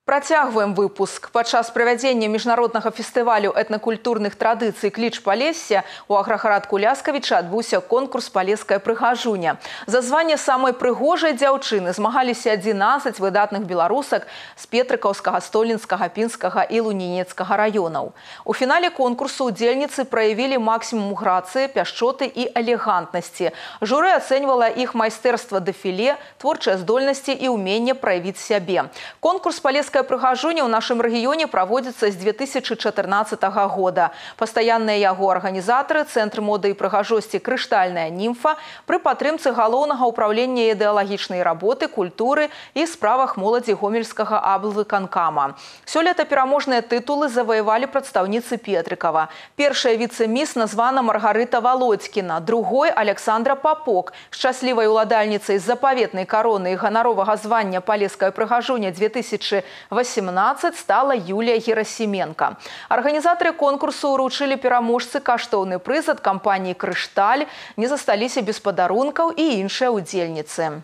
Працягваем выпуск. Падчас правядзення міжнароднага фестывалю этнакультурных традыцый «Кліч Палесся» у аграгарадку Ляскавіча адбыўся конкурс «Палеская прыгажуня». За званне самай прыгожай дзяўчыны змагаліся 11 выдатных беларусак з Петрыкаўскага, Столінскага, Пінскага і Лунінецкага раёнаў. У фінале конкурсу удзельніцы праявілі максімум грацыі, пяшчоты і элегантнасці. Журы ацэньвала іх майстэрства дэфіле, творчыя здольнасці і ўменне праявіць сябе. Конкурс «Палеская прыгажуня» ў нашым рэгіёне праводзіцца з 2014 года. Пастаянныя яго арганізатары – Цэнтр моды і прыгажосці «Крыштальная німфа» пры падтрымцы галоўнага ўпраўлення ідэалагічнай работы, культуры і справах моладзі гомельскага аблвыканкама. Сёлета пераможныя тытулы заваявалі прадстаўніцы Петрыкава. Першая віцэ-міс названа Маргарыта Володькіна, другой – Александра Попок. Шчаслівай уладальніцай запаветнай кароны і ганаровага звання «Палеская прыгажуня» 2018 стала Юлія Герасименко. Арганізатары конкурсу ўручылі пераможцы каштоўны прыз ад кампаніі «Крышталь», не засталіся без падарункаў і іншыя удзельніцы.